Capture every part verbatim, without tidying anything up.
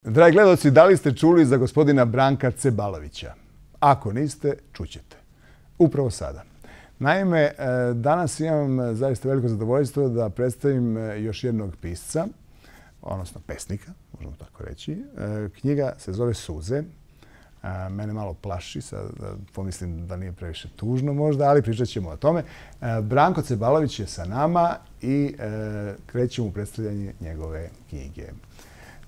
Dragi gledalci, da li ste čuli za gospodina Branka Cebalovića? Ako niste, čućete. Upravo sada. Naime, danas imam zaista veliko zadovoljstvo da predstavim još jednog pisca, odnosno pesnika, možemo tako reći. Knjiga se zove Suze. Mene malo plaši, sad pomislim da nije previše tužno možda, ali pričat ćemo o tome. Branko Cebalović je sa nama i krećemo u predstavljanje njegove knjige.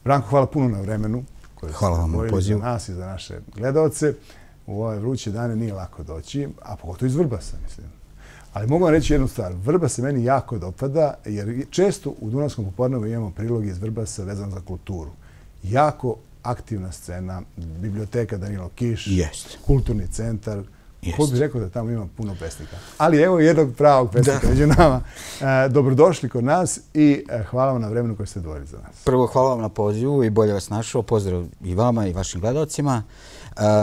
Branko, hvala puno na vremenu koje ste odvojili za nas i za naše gledalce. U ove vruće dane nije lako doći, a pogotovo iz Vrbasa, mislim. Ali mogu vam reći jednu stvar. Vrbas se meni jako dopada, jer često u Dunavskom popodnevu imamo prilog iz Vrbasa vezan za kulturu. Jako aktivna scena, biblioteka Danilo Kiš, kulturni centar. Ko bi rekao da tamo ima puno pesnika. Ali evo jednog pravog pesnika među nama. Dobrodošli kod nas i hvala vam na vremenu koje ste odvojili za nas. Prvo, hvala vam na pozivu i bolje vas našao. Pozdrav i vama i vašim gledalcima.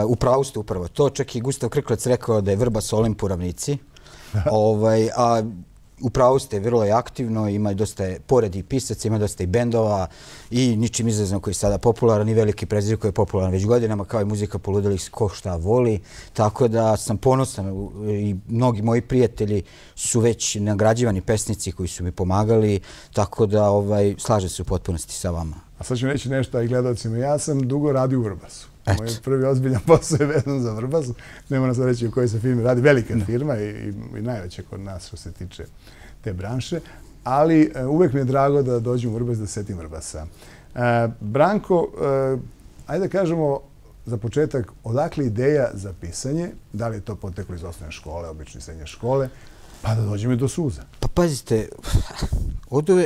U pravu ste upravo to. Čak i Gustav Krklec rekao da je Vrbas Olimp u ravnici. A u pravu ste, vrlo je aktivno, ima dosta, pored i pisaca, ima dosta i bendova i ničim izazvan koji je sada popularan i veliki prezir koji je popularan već godinama, kao i muzika poludelih ko šta voli. Tako da sam ponosan i mnogi moji prijatelji su već nagrađivani pesnici koji su mi pomagali, tako da slažem se u potpunosti sa vama. A sad ću reći nešto i gledalcima. Ja sam dugo radio u Vrbasu. Moj prvi ozbiljan posao je vezan za Vrbasu. Ne moram sad reći u kojoj se firmi radi. Velika firma i najveća kod nas što se tiče te branše. Ali uvek mi je drago da dođem u Vrbas da setim Vrbasa. Branko, ajde da kažemo za početak, odakle ideja za pisanje? Da li je to poteklo iz osnovne škole, obične srednje škole? Pa da dođemo i do Suza. Pa pazite,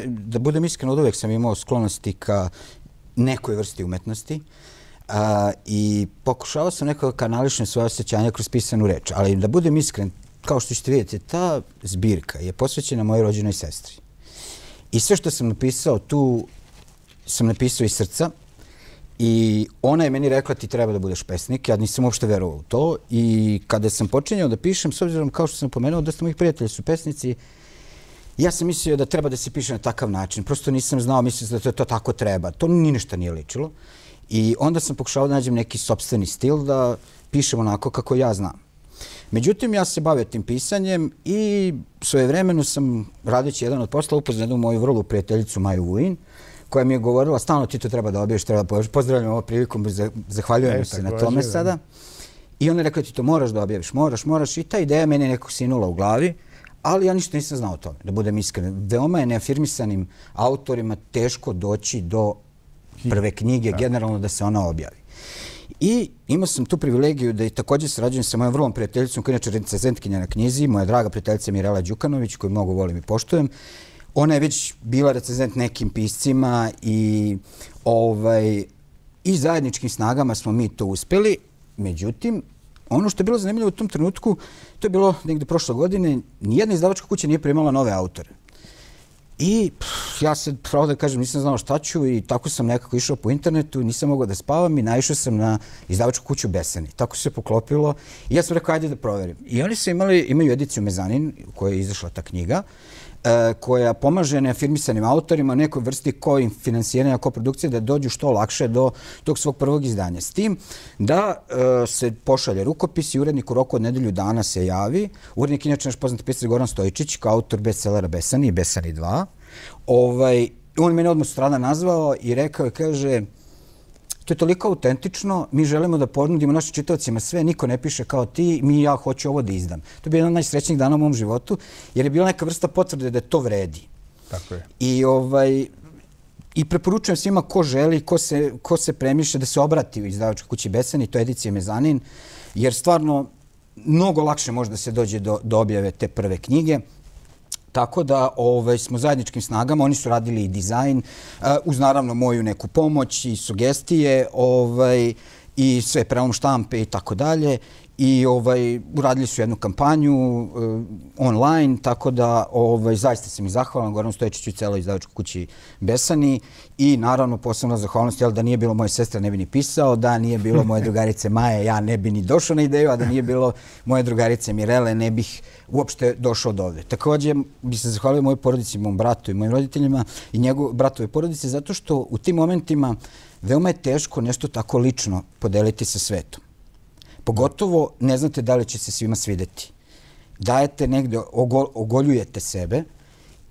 da budem iskren, od uvek sam imao sklonosti ka nekoj vrsti umetnosti. I pokušavao sam nekako kanališem svoje osjećanja kroz pisanu reč. Ali da budem iskren, kao što ćete vidjeti, ta zbirka je posvećena mojoj rođenoj sestri. I sve što sam napisao tu sam napisao iz srca. I ona je meni rekla ti treba da budeš pesnik. Ja nisam uopšte verovao u to. I kada sam počinjao da pišem, s obzirom kao što sam pomenuo, da ste mojih prijatelji su pesnici, ja sam mislio da treba da se piše na takav način. Prosto nisam znao, mislio da to tako treba. To ni ništa nije ličilo. I onda sam pokušao da nađem neki sopstveni stil da pišem onako kako ja znam. Međutim, ja se bavio tim pisanjem i svojevremeno sam, radeći jedan od posla, upoznao jednu moju vrlu prijateljicu Maju Vujin, koja mi je govorila, stalno ti to treba da objaviš, treba da objaviš. Pozdravljam ovom prilikom, zahvaljujem se na tome sada. I ona je rekla ti to moraš da objaviš, moraš, moraš. I ta ideja meni je nekog sinula u glavi, ali ja ništa nisam znao o tome, da budem iskren. Veoma je neafirmisanim autorima teško doći do prve knjige, generalno da se ona objavi. I imao sam tu privilegiju da i također sarađujem sa mojom vrlom prijateljicom, koja je inače recenzentkinja na knjizi, moja draga prijateljica Mirela Đukanović, koju mnogo volim i poštujem. Ona je već bila recenzent nekim piscima i zajedničkim snagama smo mi to uspeli. Međutim, ono što je bilo zanimljivo u tom trenutku, to je bilo negde prošle godine, nijedna izdavačka kuća nije primala nove autore. I ja se, pravo da kažem, nisam znao šta ću i tako sam nekako išao po internetu, nisam mogao da spavam i naišao sam na izdavačku kuću Besani. Tako se poklopilo i ja sam rekao, ajde da proverim. I oni su imali, imaju ediciju Mezanin, u kojoj je izašla ta knjiga, koja pomaže neafirmisanim autorima, nekoj vrsti koji finansiranja, koprodukcije, da dođu što lakše do tog svog prvog izdanja. S tim da se pošalje rukopis i urednik u roku od nedelju dana se javi. Urednik inače naš poznati pisar Goran Stojičić, kao autor bestsellera Besani i Besani dva. On mene odmah sutradan nazvao i rekao je, kaže, to je toliko autentično, mi želimo da ponudimo našim čitaocima sve, niko ne piše kao ti, mi ja hoću ovo da izdam. To je bio jedan od najsrećnijih dana u mom životu, jer je bila neka vrsta potvrde da to vredi. Tako je. I preporučujem svima ko želi, ko se premišlja da se obrati u izdavačkoj kući Besani, to je edicija Mezanin, jer stvarno mnogo lakše može da se dođe do objave te prve knjige. Tako da smo zajedničkim snagama, oni su radili i dizajn, uz naravno moju neku pomoć i sugestije i sve prelom štampe i tako dalje. I ovaj, uradili su jednu kampanju uh, online, tako da ovaj, zaista sam ih zahvalan Goranu Stojičiću i celoj izdavačkoj kući Besani i naravno posebno zahvalnost, jel, da nije bilo moje sestre ne bi ni pisao, da nije bilo moje drugarice Maje, ja ne bi ni došao na ideju, a da nije bilo moje drugarice Mirele, ne bih uopšte došao do ovde. Također bi se zahvalio mojoj porodici, mom bratu i mojim roditeljima i njegov bratove porodice, zato što u tim momentima veoma je teško nešto tako lično podeliti sa svetom. Pogotovo ne znate da li će se svima svideti. Dajete negde, ogoljujete sebe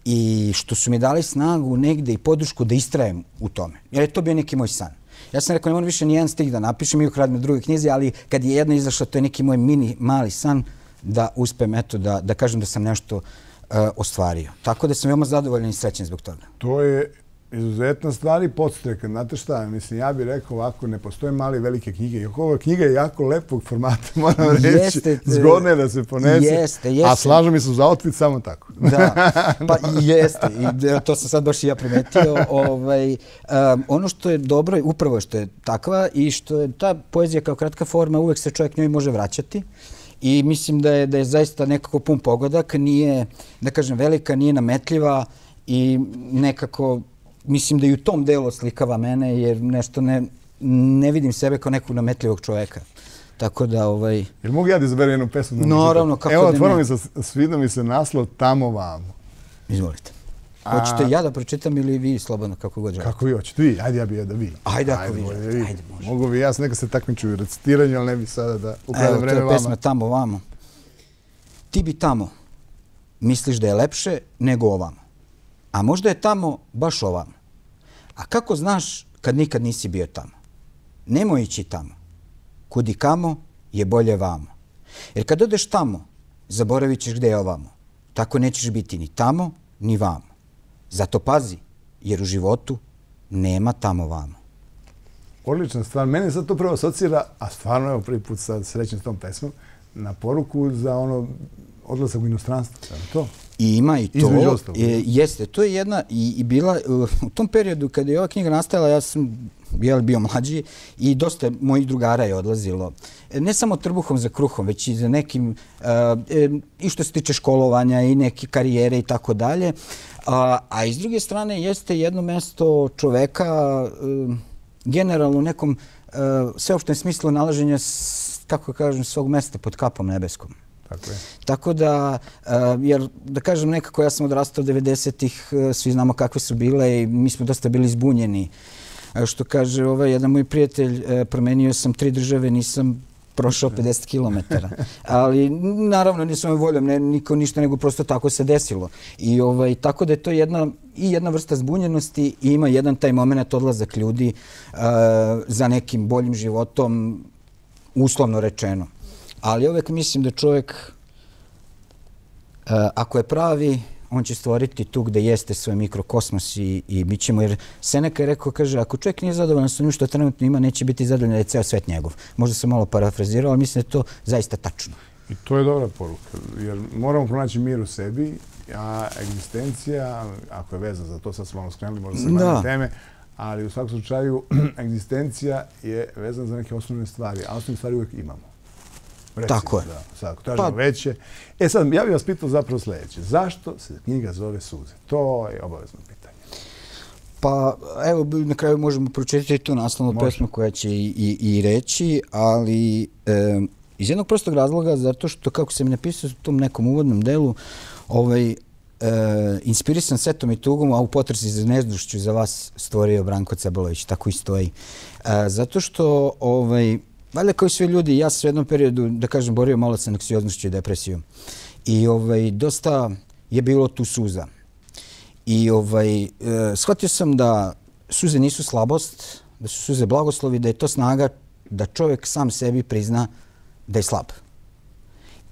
i što su mi dali snagu negde i podršku da istrajem u tome. Jer je to bio neki moj san. Ja sam rekao, ne moram više ni jedan stih da napišem, iako radim na drugoj knjizi, ali kad je jedna izašla, to je neki moj mini, mali san da uspem, eto, da, da kažem da sam nešto uh, ostvario. Tako da sam veoma zadovoljan i srećen zbog toga. To je izuzetna stvar i podstreka. Znate šta, mislim, ja bih rekao ovako, ne postoje male i velike knjige. Ova knjiga je jako lepog formata, moram reći. Jeste, zgodno je da se ponese. Jeste, jeste. A slažem mi se uz outfit samo tako. Da, pa jeste. I to sam sad baš i ja primetio. Ovaj, um, ono što je dobro, upravo što je takva i što je ta poezija kao kratka forma, uvek se čovjek njoj može vraćati. I mislim da je, da je zaista nekako pun pogodak, nije, da kažem, velika, nije nametljiva i nekako mislim da i u tom delu oslikava mene, jer nešto ne, ne vidim sebe kao nekog nametljivog čoveka. Tako da, ovaj... Jel mogu ja da izaberu jednu pesmu? Naravno, kako da ne. Evo, otvorno mi se, svidio mi se naslov Tamo vamo. Izvolite. Hoćete ja da pročitam ili vi slobodno, kako god želite? Kako vi hoćete? Vi, ajde ja bi ja da vi. Ajde ako vi želite, ajde može. Mogu bi, ja sam neka se takmiču u recitiranju, ali ne bi sada da ukradem vreme vama. Evo, to je pesma Tamo vamo. Ti bi tamo misliš da je lepše nego ovamo. A možda je tamo baš ovamo. A kako znaš kad nikad nisi bio tamo? Nemoj ići tamo. Kud i kamo je bolje vamo. Jer kad odeš tamo, zaboravit ćeš gde je ovamo. Tako nećeš biti ni tamo, ni vamo. Zato pazi, jer u životu nema tamo vamo. Odlična stvar. Mene sad to prvo asocira, a stvarno evo prvi put sad srećem s tom pesmom, na poruku za ono odlazak u inostranstvo. To? I ima i to. E, jeste, to je jedna i, i bila u tom periodu kada je ova knjiga nastajala, ja sam jel, bio mlađi i dosta mojih drugara je odlazilo. Ne samo trbuhom za kruhom, već i za nekim, e, i što se tiče školovanja i neke karijere i tako dalje. A, a iz druge strane jeste jedno mesto čoveka e, generalno u nekom e, sveopštem smislu nalaženja, kako kažem, svog mesta pod kapom nebeskom. Tako je. Tako da, jer da kažem nekako, ja sam odrastao devedesetih, svi znamo kakve su bile i mi smo dosta bili zbunjeni. Što kaže ovaj jedan moj prijatelj, promenio sam tri države, nisam prošao pedeset kilometara. Ali naravno nisam voljom, ne, niko ništa, nego prosto tako se desilo. I ovaj, tako da je to jedna, i jedna vrsta zbunjenosti i ima jedan taj moment odlazak ljudi uh, za nekim boljim životom, uslovno rečeno. Ali uvek mislim da čovjek, uh, ako je pravi, on će stvoriti tu gde jeste svoj mikrokosmos i, i bit ćemo, jer Seneca je rekao, kaže, ako čovjek nije zadovoljan sa njim što trenutno ima, neće biti zadovoljan da je ceo svet njegov. Možda sam malo parafrazirao, ali mislim da je to zaista tačno. I to je dobra poruka, jer moramo pronaći mir u sebi, a egzistencija, ako je vezana za to, sad smo malo skrenuli, možda se manje teme, ali u svakom slučaju egzistencija je vezana za neke osnovne stvari, a osnovne stvari uvijek imamo. Recimo, tako je. Da, sad, tražimo pa, veće. E sad, ja bih vas pitao zapravo sljedeće. Zašto se knjiga zove Suze? To je obavezno pitanje. Pa, evo, na kraju možemo pročitati tu naslovnu pesmu koja će i, i, i reći, ali e, iz jednog prostog razloga, zato što, kako sam napisao u tom nekom uvodnom delu, ovaj, e, inspirisan setom i tugom, a u potresi za nezdušću za vas stvorio Branko Cebalović, tako i stoji. E, zato što, ovaj, valjda kao i svi ljudi, ja sam u jednom periodu, da kažem, borio malo sa anksioznošću i depresijom. I ovaj, dosta je bilo tu suza. I ovaj, e, shvatio sam da suze nisu slabost, da su suze blagoslovi, da je to snaga da čovjek sam sebi prizna da je slab.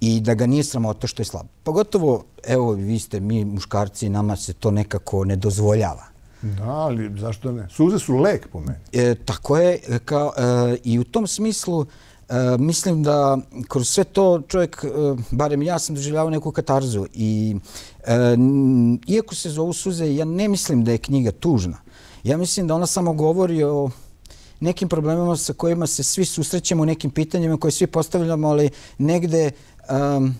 I da ga nije sramota što je slab. Pogotovo, evo, vi ste, mi muškarci, nama se to nekako ne dozvoljava. Da, ali zašto ne? Suze su lek po meni. E, tako je. Kao, e, I u tom smislu e, mislim da kroz sve to čovjek, e, barem ja sam doživljavao neku katarzu. I, e, iako se zovu Suze, ja ne mislim da je knjiga tužna. Ja mislim da ona samo govori o nekim problemima sa kojima se svi susrećemo, nekim pitanjima koje svi postavljamo, ali negde um,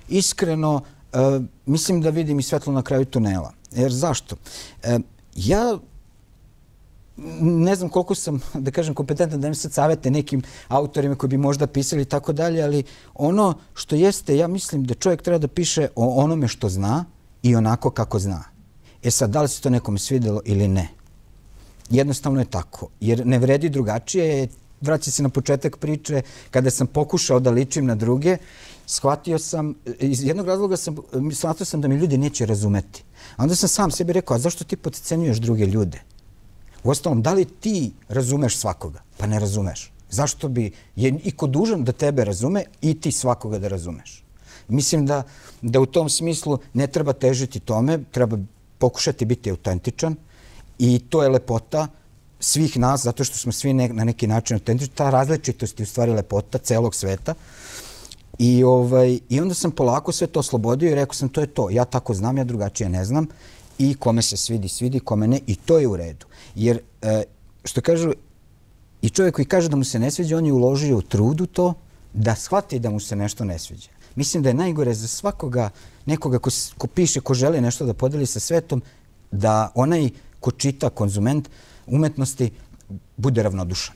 iskreno uh, mislim da vidim i svetlo na kraju tunela. Jer zašto? Uh, ja ne znam koliko sam, da kažem, kompetentan da im sad savete nekim autorima koji bi možda pisali i tako dalje, ali ono što jeste, ja mislim da čovjek treba da piše o onome što zna i onako kako zna. E sad, da li se to nekome svidelo ili ne? Jednostavno je tako, jer ne vredi drugačije. Vraća se na početak priče, kada sam pokušao da ličim na druge, shvatio sam, iz jednog razloga sam, shvatio sam da mi ljudi neće razumeti. A onda sam sam sebi rekao, a zašto ti podcenjuješ druge ljude? Uostalom, da li ti razumeš svakoga? Pa ne razumeš. Zašto bi je iko dužan da tebe razume i ti svakoga da razumeš? Mislim da, da u tom smislu ne treba težiti tome, treba pokušati biti autentičan i to je lepota svih nas, zato što smo svi ne, na neki način autentični. Ta različitost je u stvari lepota celog sveta. I, ovaj, I onda sam polako sve to oslobodio i rekao sam, to je to. Ja tako znam, ja drugačije ne znam. I kome se svidi, svidi, kome ne. I to je u redu. Jer, e, što kažu, i čovjek koji kaže da mu se ne sviđa, on je uložio u trudu to da shvati da mu se nešto ne sviđa. Mislim da je najgore za svakoga, nekoga ko, ko piše, ko želi nešto da podeli sa svetom, da onaj ko čita, konzument umetnosti, bude ravnodušan.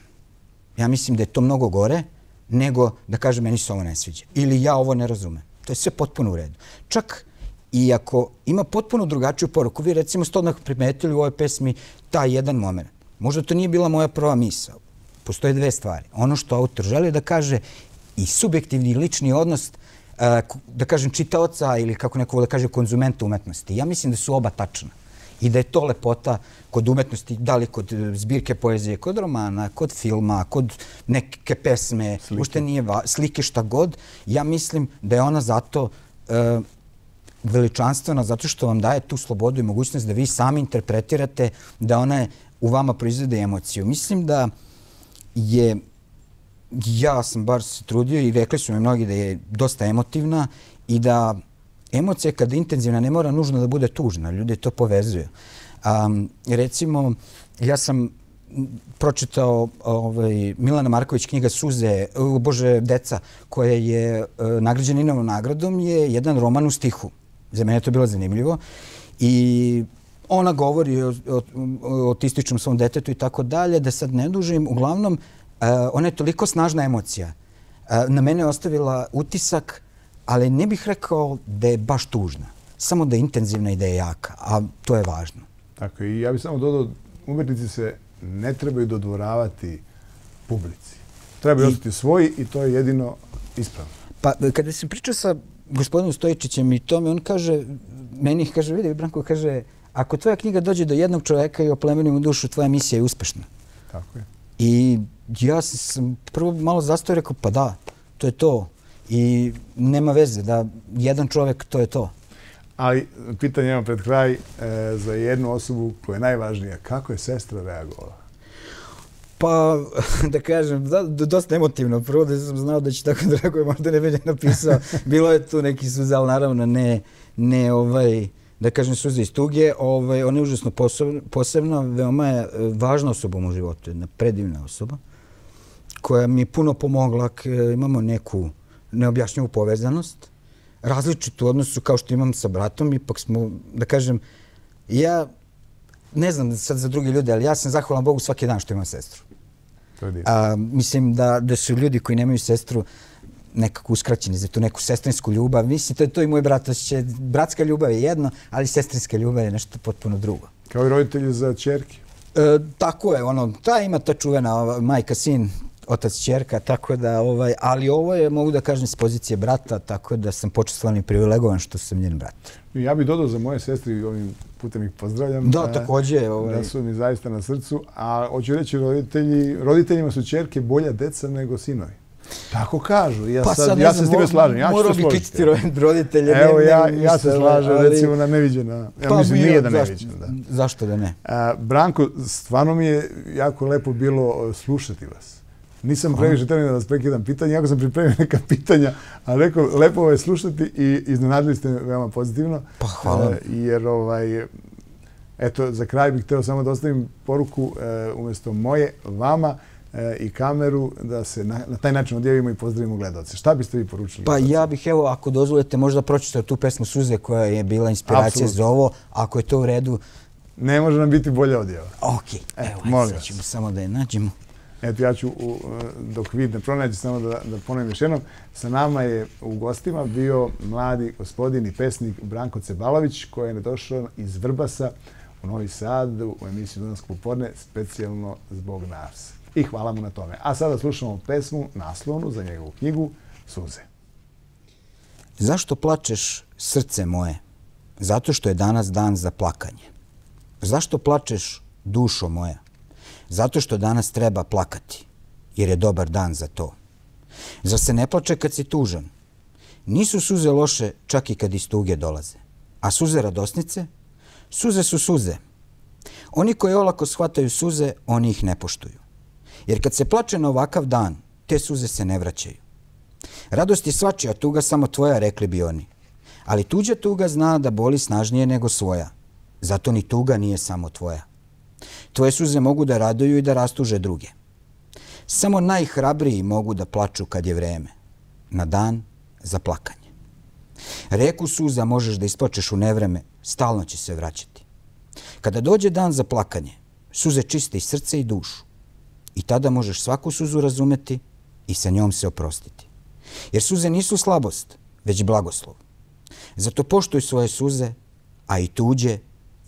Ja mislim da je to mnogo gore nego da kaže meni se ovo ne sviđa. Ili ja ovo ne razumem. To je sve potpuno u redu. Čak i ako ima potpuno drugačiju poruku, vi recimo ste odmah primetili u ovoj pesmi taj jedan moment. Možda to nije bila moja prva misao. Postoje dve stvari. Ono što autor želi da kaže i subjektivni lični odnos, da kažem, čitaoca ili kako neko da kaže konzumenta umetnosti. Ja mislim da su oba tačna. I da je to lepota kod umetnosti, da li kod zbirke poezije, kod romana, kod filma, kod neke pesme, ušte nije slike, šta god. Ja mislim da je ona zato e, veličanstvena, zato što vam daje tu slobodu i mogućnost da vi sami interpretirate, da ona u vama proizvede emociju. Mislim da je, ja sam bar se trudio i rekli su mi mnogi da je dosta emotivna i da emocija kada je intenzivna ne mora nužno da bude tužna. Ljudi to povezuju. Um, recimo, ja sam pročitao ovaj, Milana Marković knjiga Suze, uh, Bože, deca, koja je uh, nagrađena Inovom nagradom, je jedan roman u stihu. Za mene je to bilo zanimljivo. I ona govori o, o, o autističnom svom detetu i tako dalje, da sad ne dužim. Uglavnom, uh, ona je toliko snažna emocija. Uh, na mene je ostavila utisak, ali ne bih rekao da je baš tužna. Samo da je intenzivna i da je jaka, a to je važno. Tako, i ja bih samo dodao, umetnici se ne trebaju dodvoravati publici. Trebaju ostati svoji i to je jedino ispravno. Pa kada se priča sa gospodinom Stojičićem i tome, on kaže, meni kaže, vidi, Branko, kaže, ako tvoja knjiga dođe do jednog čoveka i oplemeni mu dušu, tvoja misija je uspešna. Tako je. I ja sam prvo malo zastao i rekao, pa da, to je to. I nema veze da jedan čovjek, to je to. Ali pitanje imam pred kraj e, za jednu osobu koja je najvažnija. Kako je sestra reagovala? Pa, da kažem, da, dosta emotivno. Prvo da sam znao da će tako da reaguje, možda ne bi ne napisao. Bilo je tu neki suze, ali naravno ne, ne ovaj, da kažem, suze iz tuge. Ovaj, ona je užasno posebna, veoma je važna osoba u mom životu, jedna predivna osoba, koja mi je puno pomogla, imamo neku neobjašnjivu povezanost, različitu u odnosu kao što imam sa bratom, ipak smo, da kažem, ja ne znam sad za drugi ljude, ali ja sam zahvalan Bogu svaki dan što imam sestru. A, mislim da, da su ljudi koji nemaju sestru nekako uskraćeni za tu neku sestrinsku ljubav. Mislim, to je to i moj brat. Će, bratska ljubav je jedno, ali sestrinska ljubav je nešto potpuno drugo. Kao i roditelji za ćerke? E, tako je, ono, ta ima ta čuvena majka, sin, otac, ćerka, tako da, ovaj, ali ovo je, mogu da kažem, s pozicije brata, tako da sam počestvovan i privilegovan što sam njen brat. Ja bih dodao za moje sestre i ovim putem ih pozdravljam. Da, također. Ovaj... Da su mi zaista na srcu. A hoću reći, roditelji, roditeljima su ćerke bolja deca nego sinovi. Tako kažu. Ja, pa sad, sad ja se s time slažem. Ja morao bi pitati roditelje. Evo, ne, ja, ne, ja se slažem, ali... recimo, na neviđena. Ja pa mislim, bio, nije da zašto, neviđena. Da. Zašto da ne? A, Branko, stvarno mi je jako lepo bilo slušati vas. Nisam previše trebao da vas prekidam pitanja, jako sam pripremio neka pitanja, ali rekao, lepo je slušati i iznenadili ste me veoma pozitivno. Pa hvala. E, jer, ovaj, eto, za kraj bih hteo samo da ostavim poruku e, umjesto moje vama. i kameru, da se na, na taj način odjavimo i pozdravimo gledalce. Šta biste vi poručili? Pa ja bih, evo, ako dozvolite, možda pročitao tu pesmu Suze koja je bila inspiracija Absolutno. Za ovo. Ako je to u redu... Ne može nam biti bolja odjava. Ok, evo, ajde, sad ćemo samo da je nađemo. Eto, ja ću, dok vid ne pronađe, samo da, da ponovim još jednom. Sa nama je u gostima bio mladi gospodin i pesnik Branko Cebalović, koji je došao iz Vrbasa u Novi Sad u emisiju Dunavsko popodne, specijalno zbog nas. I hvala mu na tome. A sada slušamo pesmu naslovnu za njegovu knjigu Suze. Zašto plačeš, srce moje? Zato što je danas dan za plakanje. Zašto plačeš, dušo moja? Zato što danas treba plakati, jer je dobar dan za to. Zar se ne plače kad si tužan? Nisu suze loše čak i kad iz tuge dolaze. A suze radosnice? Suze su suze. Oni koji olako shvataju suze, oni ih ne poštuju. Jer kad se plače na ovakav dan, te suze se ne vraćaju. Radost je svačija, tuga samo tvoja, rekli bi oni. Ali tuđa tuga zna da boli snažnije nego svoja. Zato ni tuga nije samo tvoja. Tvoje suze mogu da raduju i da rastuže druge. Samo najhrabriji mogu da plaču kad je vreme. Na dan za plakanje. Reku suza možeš da isplačeš u nevreme, stalno će se vraćati. Kada dođe dan za plakanje, suze čiste i srce i dušu. I tada možeš svaku suzu razumeti i sa njom se oprostiti. Jer suze nisu slabost, već blagoslov. Zato poštuj svoje suze, a i tuđe,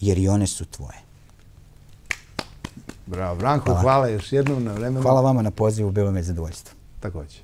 jer i one su tvoje. Bravo, Branko, hvala, hvala još jednom na vremenu. Hvala vama na pozivu, bilo mi je zadovoljstvo. Takođe.